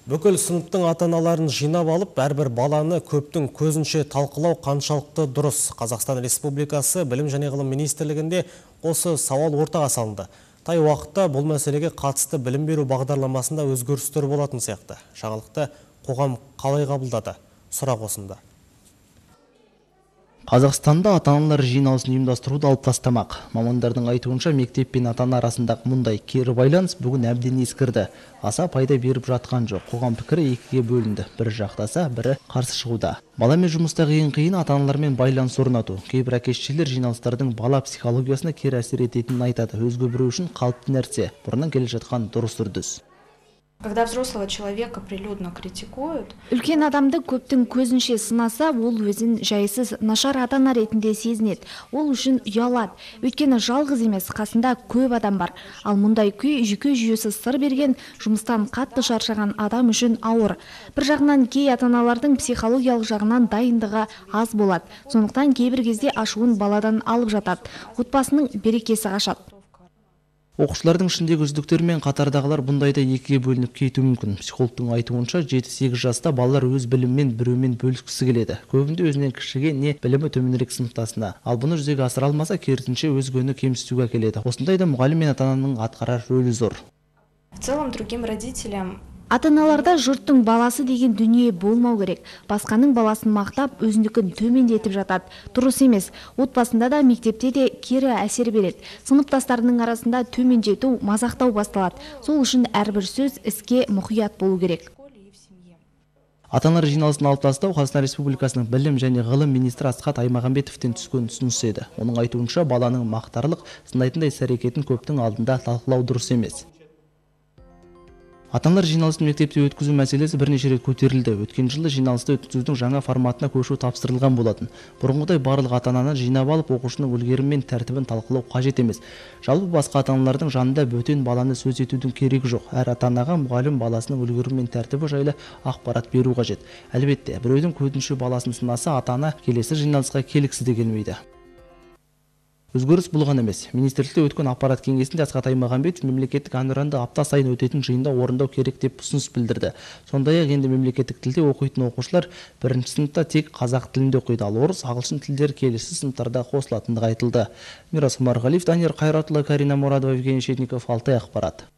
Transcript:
Бүкіл сыныптың ата-аналарын жинап алып, әрбір баланы көптің көзінше талқылау қаншалықты дұрыс. Қазақстан Республикасы Білім және ғылым министрлігінде осы сауал ортаға салынды. Тай уақытта бұл мәселеге қатысты білім беру бағдарламасында өзгерістер болатын сияқты. Жаңалықты қоғам қалай қабылдады? Сұрақ осында. Қазақстанда ата-аналар жиналысын ұйымдастыруды алып тастамақ. Мамандардың айтуынша мектеп пен ата-ана арасындағы мұндай кері байланыс бүгін әбден ескірді. Аса пайда беріп жатқан жоқ. Қоғам пікірі екіге бөлінді. Бірі жақтаса, бірі қарсы шығуда. Баламен жұмыстағы ең қиын ата-аналармен байланыс орнату. Кейбір әке-шешелер жиналыстардың бала психологиясына кері әсер ететінін айтады. Өзге біреу үшін қалыпты нәрсе. Бұрыннан келе жатқан дұрыс үрдіс. Когда взрослого человека прилюдно критикуют, үлкен адамды көптің көзінше сынаса, ол өзін жайсыз, нашар ата-ана ретінде сезінеді. Ол үшін ұялады. Өйткені жалғыз емес, қасында көп адам бар. Ал мұндай күй жүйке жүйесі сыр берген, жұмыстан қатты шаршаған адам үшін ауыр. Бір жағынан кей ата-аналардың психологиялық жағынан дайындығы аз болады. Сондықтан кейбір кезде ашуын баладан алып жатады. Отбасының берекесі қашады. Оқушылардың ішіндегі үздіктер мен қатардағылар бұндайда екіге бөлініп кетуі мүмкін. Психологтың айтуынша 7-8 жаста балалар өз біліммен біреумен бөліскісі келеді. Көбінде өзінен кішіге не білімі төменірек сыныптасына. Ал бұны жүзеге асыра алмаса, керісінше өзгені кемсітуге әкеледі. Осындайда мұғалім мен ата-ананың атқарар рөлі зор. в целом другим родителям Ата-аналарда жұрттың баласы деген дүние болмау керек. Басқаның баласын мақтап, өзіндікін төмендетіп жатады. Дұрыс емес. Отбасында да, мектепте де кері әсер береді. Сыныптастарының арасында төмендету, мазақтау басталады. Сол үшін әрбір сөз іске мұқият болу керек. Ата-аналар жиналысын алып тастау Қазақстан Республикасының білім және ғылым министрі Асхат Аймағамбетовтен түскен ұсыныс еді. Оның айтуынша баланың мақтарлық, сынайтындай іс-әрекетін көптің алдында талқылау дұрыс емес. Ата-аналар жиналысын мектепте өткізу мәселесі бірнеше рет көтерілді. Өткен жылы жиналысты өткізудің жаңа форматына көшу тапсырылған болатын. Бұрынғыдай барлық ата-ананы жинап алып, оқушының үлгерімі мен тәртібін талқылау қажет емес. Жалпы басқа ата-аналардың жанында бөтен баланы сөз етудің керегі жоқ. Әр ата-анаға мұғалім баласының үлгерімі мен тәртібі жайлы ақпарат беру қажет. Әлбетте, біреудің көзінше баласын сынаса, ата-ана келесі жиналысқа келгісі де келмейді. Өзгеріс болған емес. Министрлікте өткен аппарат кеңесінде Асхат Аймағамбетов мемлекеттік әнұранды апта сайын өтетін жиында орындау керек деп ұсыныс білдірді. Сондай-ақ енді мемлекеттік тілде оқитын оқушылар бірінші сыныпта тек қазақ тілінде оқиды, ал орыс, ағылшын тілдері келесі сыныптарда қосылатындығы айтылды. Мирас Умарғалиев, Данияр Қайратұлы, Карина Мурадова, Евгений Щетников, Алтай ақпарат.